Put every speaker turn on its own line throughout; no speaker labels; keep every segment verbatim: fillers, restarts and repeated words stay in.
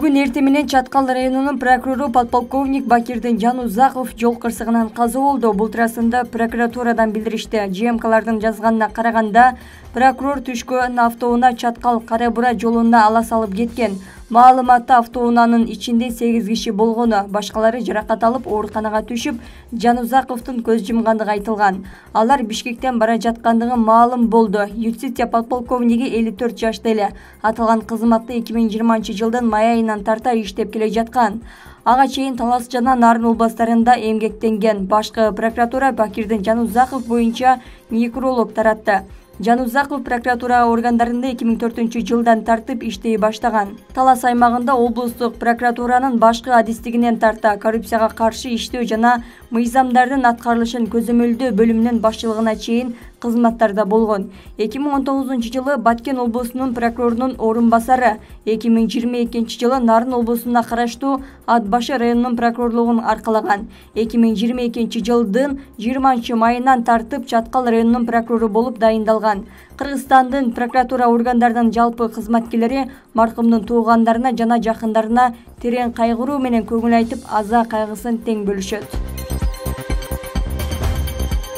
Бүгүн эртең менен Чаткал районунун прокурору подполковник Бакирдин Жанузаков жол кырсыгынан каза болду. Бул туурасында прокуратурадан билдиришти. ЖМКлардын жазганына караганда, прокурор түшкөн автоунаа Чаткал Кара Бура жолуна ала салып кеткен. Маалыматта автоунаанын ичинде сегиз киши болгону, башкалары жаракат алып ооруканага түшүп, Жанузаковдун көз жумгандыгы айтылган. Алар Бишкектен бара жаткандыгы маалым болду. Юстиция подполковниги элүү төрт жашта эле. Аталган кызматты эки миң жыйырманчы жылдын май айынан тарта иштеп келе жаткан. Ага чейин Талас жана Нарын областарында эмгектенген. Башкы прокуратура Бакирдин Жанузаков боюнча некролог таратты. Жанузаков прокуратура органдарында эки миң төртүнчү жылдан тартып иштей баштаган. Талас аймагында облустук прокуратуранын башкы адистигинен тарта коррупцияга каршы иштөө жана мыйзамдардын аткарылышын көзөмөлдөө бөлүмүнүн башчылыгына чейин кызматтарда болгон. эки миң он тогузунчу жылы Баткен облусунун прокурорунун орун басары, эки миң жыйырма экинчи жылы Нарын облусуна караштуу Ат башы районунун прокурорлугун аркалаган. эки миң жыйырма экинчи жылдын жыйырманчы майынан тартып Чаткал районунун прокурору болуп дайындалган. Кыргызстандын прокуратура органдарынын жалпы кызматкерлери маркумдун туугандарына жана жакындарына терең кайгыруу менен көңүл айтып, аза кайгысын тең бөлүшөт.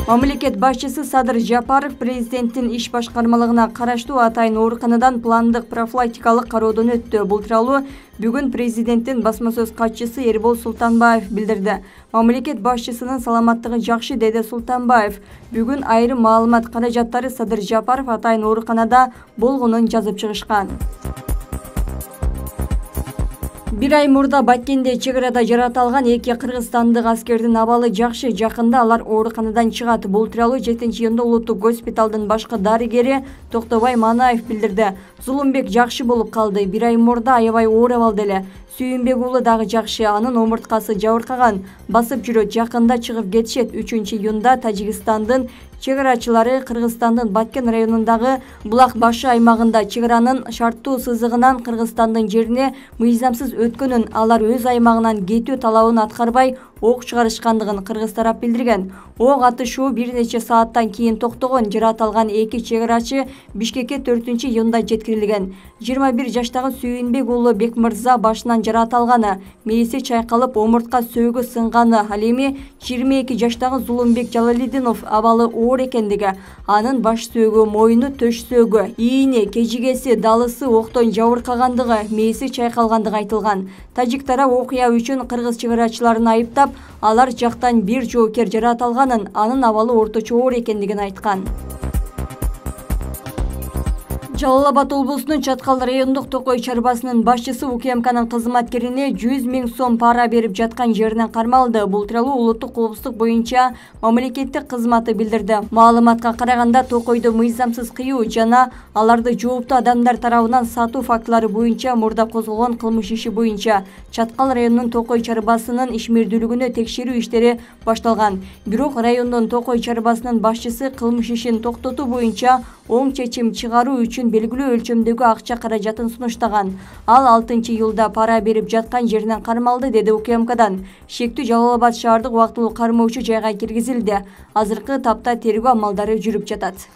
Мамлекет башчысы Садыр Жапаров президенттин иш башкармалыгына караштуу атайын ооруканадан пландык профилактикалык кароодон өттү. Бул тууралуу бүгүн президенттин басма сөз катчысы Эрбол Султанбаев билдирди. Мамлекет башчысынын саламаттыгы жакшы, деди Султанбаев. Бүгүн айрым маалымат каражаттары Садыр Жапаров атайын ооруканада болгонун жазып чыгышкан. Бир ай мурда Баткенде чек арада жараталган эки кыргызстандык аскердин абалы жакшы, жакында алар ооруканадан чыгат. Бул тууралуу жетинчи июнда улуттук госпиталдын башкы дарыгери Токтобай Манаев билдирди. Зулумбек жакшы болуп калды. Бир ай мурда аябай оор абалда эле. Сүйүнбек уулу дагы жакшы, анын омурткасы жабыркаган, басып жүрөт, жакында чыгып кетишет. үчүнчү июнда Тажикстандын чек арачылары Кыргызстандын Баткен районундагы Булак башы аймагында чек аранын шарттуу сызыгынан Кыргызстандын жерине мыйзамсыз өткөнүн, алар өз аймагынан кетүү талабын аткарбай ок чыгарышкандыгын кыргыз тарап билдирген. Ок атышуу бир нече сааттан кийин токтогон. Жараталган эки чек арачы Бишкекке төртүнчү июнда жеткирилген. жыйырма бир жаштагы Сүйүнбек уулу Бекмырза башынан жараталганы, мээси чайкалып, омуртка сөөгү сынганы. Ал эми жыйырма эки жаштагы Зулумбек Жалалидинов абалы оор экендиги, анын баш сөөгү, мойну, төш сөөгү, ийини, кежигеси, далысы октон жабыркагандыгы, мээси чайкалгандыгы айтылган. Тажик тарап окуя үчүн кыргыз чек арачыларын айыптап, алар жактан бир жоокер жараталганын, анын абалы орточо оор экендигин айткан. Жалал Абад облусунун Чаткал райондук Токой чарбасынын башчысы УКМКнын кызматкерине жүз миң сом пара берип жаткан жеринен кармалды. Бул тууралуу улуттук коопсуздук боюнча мамлекеттик кызматы билдирди. Маалыматка караганда, Токойдо мыйзамсыз кыюу жана аларды жооптуу адамдар тарабынан сатуу фактылары боюнча мурда козголгон кылмыш иши боюнча Чаткал районунун Токой чарбасынын ишмердүүлүгүнө текшерүү иштери башталган. Бирок райондун Токой чарбасынын башчысы кылмыш ишин токтотуу боюнча оң чечим чыгаруу үчүн белгилүү өлчөмдөгү акча каражатын сунуштаган. Ал алтынчы июлда пара берип жаткан жеринен кармалды, деди УКМКдан. Шектүү Жалал Абад шаардык убактылуу кармоочу жайга киргизилди. Азыркы тапта тергөө амалдары жүрүп жатат.